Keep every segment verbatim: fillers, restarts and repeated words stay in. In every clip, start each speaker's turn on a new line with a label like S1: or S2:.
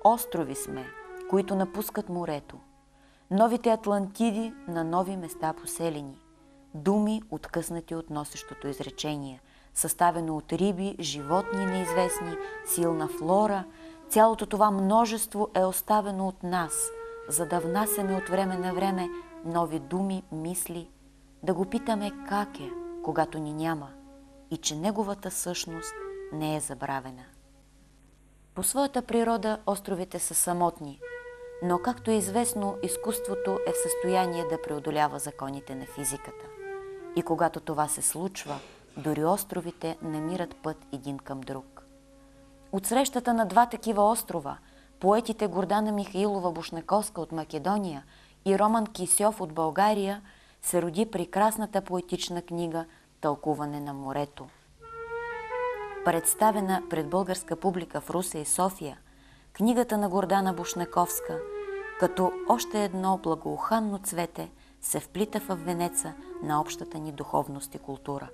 S1: острови сме, които напускат морето. Новите Атлантиди на нови места поселени. Думи, откъснати от носещото изречение, съставено от риби, животни неизвестни, силна флора. Цялото това множество е оставено от нас, за да внасяме от време на време нови думи, мисли, да го питаме как е, когато ни няма, и че неговата същност не е забравена. По своята природа островите са самотни, но както е известно, изкуството е в състояние да преодолява законите на физиката. И когато това се случва, дори островите намират път един към друг. От срещата на два такива острова, поетите Гордана Михаилова-Бушнаковска от Македония и Роман Кисьов от България, се роди прекрасната поетична книга «Тълкуване на морето». Представена пред българска публика в Русе и София, книгата на Гордана Бушнаковска, като още едно благоуханно цвете, се вплита в венеца на общата ни духовност и култура.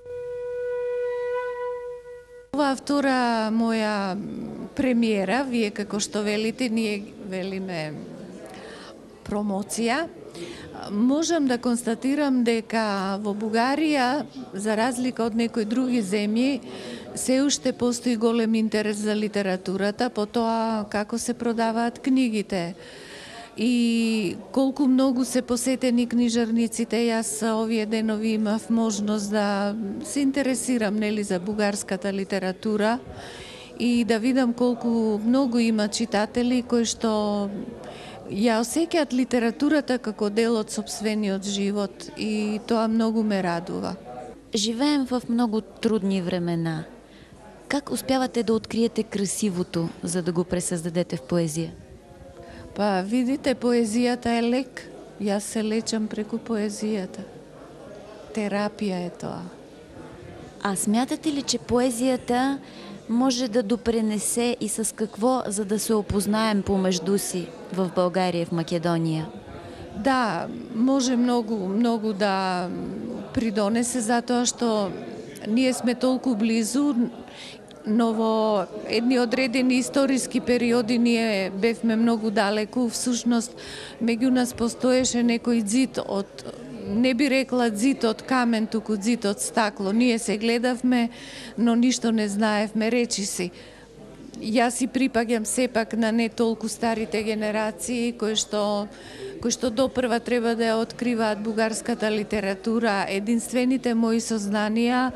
S2: Ова втора моја премиера, вие како што велите, ние велиме промоција. Можам да констатирам дека во Бугарија, за разлика од некои други земји, се уште постои голем интерес за литературата, по тоа како се продаваат книгите и колку многу се посетени книжарниците. Јас овие денови имав можност да се интересирам нели за бугарската литература и да видам колку многу има читатели кои што ја осеќаат литературата како дел од сопствениот живот и тоа многу ме радува.
S3: Живеем в много трудни времена. Как успявате да откриете красивото, за да го пресъздадете в поезия?
S2: Па, видите, поезијата е лек. Јас се лечам преку поезијата. Терапија е тоа.
S3: А смятате ли, че поезията може да допренесе и с какво, за да се опознаем помежду си в България и в Македония?
S2: Да, може многу, многу да придонесе, затоа што ние сме толку близу, но во едни одредени историски периоди ние бевме многу далеку. Всушност, меѓу нас постоеше некој ѕид од, не би рекла ѕид од камен, туку ѕид од стакло. Ние се гледавме, но ништо не знаевме, речи си. Јас си припаѓам сепак на не толку старите генерации, кои што кои што допрва треба да ја откриваат бугарската литература. Единствените мои сознанија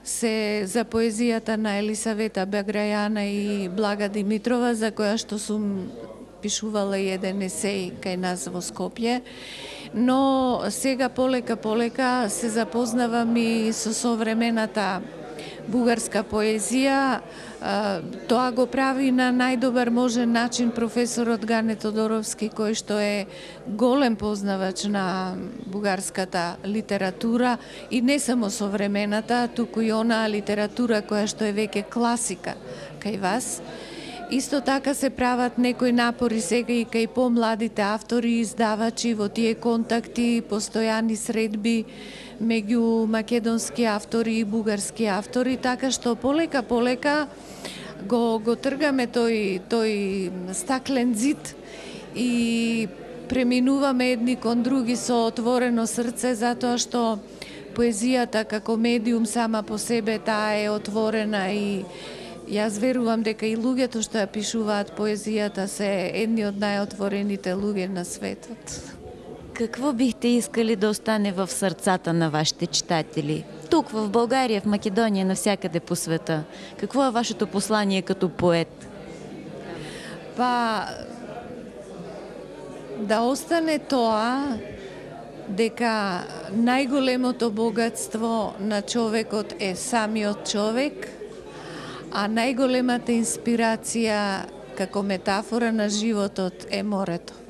S2: се за поезијата на Елисавета Баграјана и Блага Димитрова, за која што сум пишувала и еден есеј кај нас во Скопје. Но сега полека полека се запознавам и со современата бугарска поезија. Тоа го прави на најдобар можен начин професорот Гане Тодоровски, кој што е голем познавач на бугарската литература и не само современата, туку и она литература која што е веќе класика кај вас. Исто така се прават некои напори сега и кај помладите автори и издавачи во тие контакти, постојани средби меѓу македонски автори и бугарски автори, така што полека полека го го тргаме тој тој стаклен ѕид и преминуваме едни кон други со отворено срце, затоа што поезијата како медиум сама по себе таа е отворена и јас верувам дека и луѓето што ја пишуваат поезијата се едни од најотворените луѓе на светот.
S3: Какво бихте искали да остане в сърцата на вашите читатели? Тук, в България, в Македония, навсякъде по света. Какво е вашето послание като поет?
S2: Па, да остане тоа дека најголемото богатство на човекот е самиот човек, а најголемата инспирација како метафора на животот е морето.